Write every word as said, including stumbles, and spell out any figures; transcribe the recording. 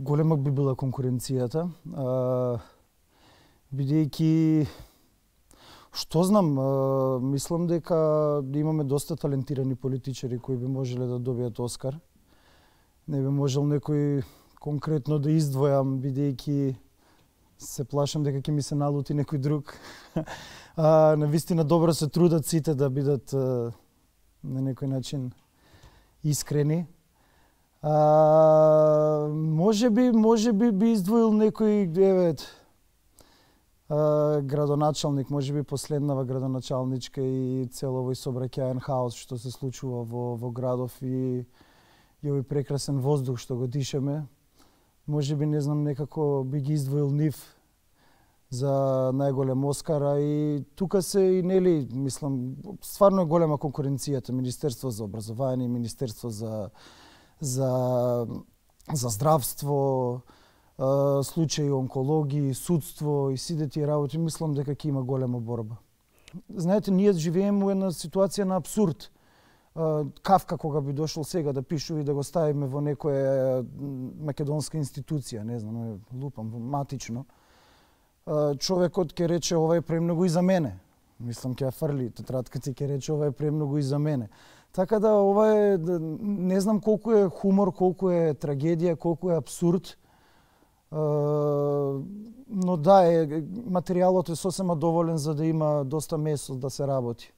Голема би била конкуренцијата, бидејќи, што знам, а, мислам дека имаме доста талентирани политичари кои би можеле да добијат Оскар. Не би можел некој конкретно да издвојам, бидејќи се плашам дека ќе ми се налути некој друг. а, навистина добро се трудат сите да бидат а, на некој начин искрени. А, може би, може би би издвоил некој, еве, а, градоначалник, може би последнава градоначалничка и цел овој сообраќаен хаос што се случува во, во градов и, и овој прекрасен воздух што го дишеме. Може би, не знам, некако би ги издвоил нив за најголем Оскар, а и тука се и, нели, мислам, стварно е голема конкуренцијата. Министерство за образование, Министерство за за за здравство, случаи онкологии, судство и сите тие работи, мислам дека ќе има голема борба. Знаете, ние живееме во една ситуација на абсурд. Кафка кога би дошол сега да пишува и да го ставиме во некоја македонска институција, не знам, лупам, матично, човекот ќе рече ова е премногу и за мене. Мислам ќе ја фрли тетратката и ќе рече ова е премногу и за мене. Така да ова е, не знам колку е хумор, колку е трагедија, колку е абсурд. Но да, е, материјалот е сосема доволен за да има доста место да се работи.